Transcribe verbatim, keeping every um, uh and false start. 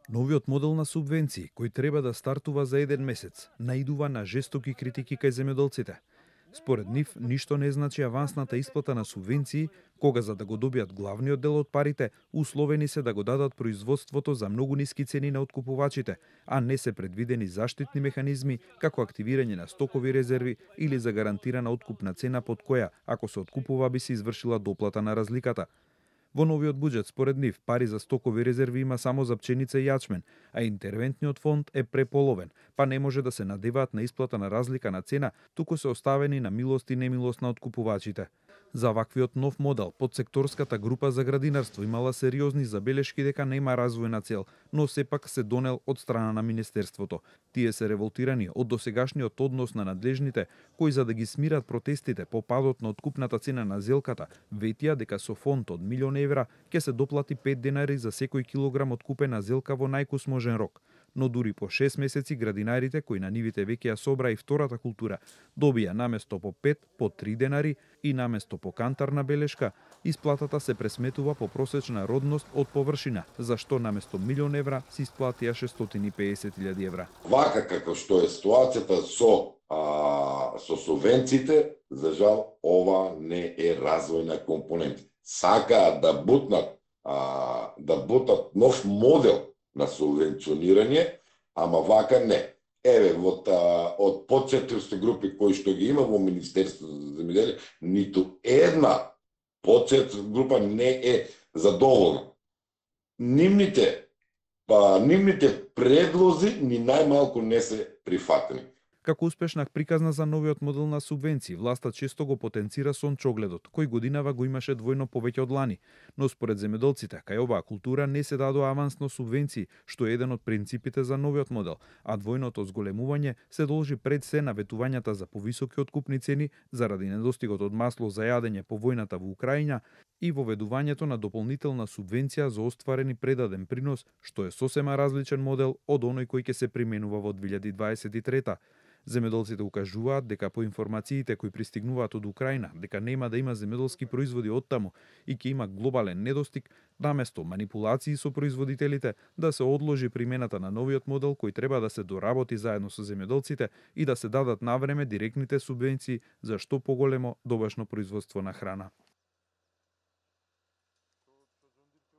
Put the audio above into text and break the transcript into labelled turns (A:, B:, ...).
A: Новиот модел на субвенции, кој треба да стартува за еден месец, наидува на жестоки критики кај земјоделците. Според нив, ништо не значи авансната исплата на субвенции, кога за да го добијат главниот дел од парите, условени се да го дадат производството за многу ниски цени на откупувачите, а не се предвидени заштитни механизми, како активирање на стокови резерви или за гарантирана откупна цена под која, ако се откупува, би се извршила доплата на разликата. Во новиот буџет, според нив, пари за стокови резерви има само за пченица и јачмен, а интервентниот фонд е преполовен, па не може да се надеваат на исплата на разлика на цена, туку се оставени на милост и немилост на откупувачите. За ваквиот нов модел, подсекторската група за градинарство имала сериозни забелешки дека нема развојна цел, но сепак се донел од страна на Министерството. Тие се револтирани од досегашниот однос на надлежните, кои за да ги смират протестите по падот на откупната цена на зелката, ветија дека со фонд од милион евра ќе се доплати пет денари за секој килограм откупена зелка во најкусможен рок. Но дури по шест месеци градинарите, кои на нивите веќе ја собра и втората култура, добија наместо по пет, по три денари и наместо по кантарна белешка, исплатата се пресметува по просечна родност од површина, за што наместо милион евра се исплатија шестстотини и педесет илјади евра.
B: Вака како што е ситуацијата со а, со субвенциите, за жал ова не е развојна компонента. Сакаат да бутнат а, да бутнат нов модел на субвенционирање, ама вака не. Еве, од, од подсекторски групи кои што ги има во Министерството за земјоделие, ниту една подсекторска група не е задоволна. Нивните, па, нивните предлози ни најмалку не се прифатени.
A: Како успешна приказна за новиот модел на субвенции, власта често го потенцира сончогледот, кој годинава го имаше двојно повеќе од лани. Но според земјоделците, кај оваа култура не се дадоа авансно субвенции, што е еден од принципите за новиот модел, а двојното зголемување се должи пред се на ветувањата за повисоки откупни цени заради недостигот од масло за јадење по војната во Украина и воведувањето на дополнителна субвенција за остварени предаден принос, што е сосема различен модел од оној кој ќе се применува во две илјади дваесет и трета. Земјоделците укажуваат дека по информациите кои пристигнуваат од Украина, дека нема да има земјоделски производи од таму и ќе има глобален недостиг, наместо манипулации со производителите, да се одложи примената на новиот модел кој треба да се доработи заедно со земјоделците и да се дадат навреме директните субвенции за што поголемо добашно производство на храна.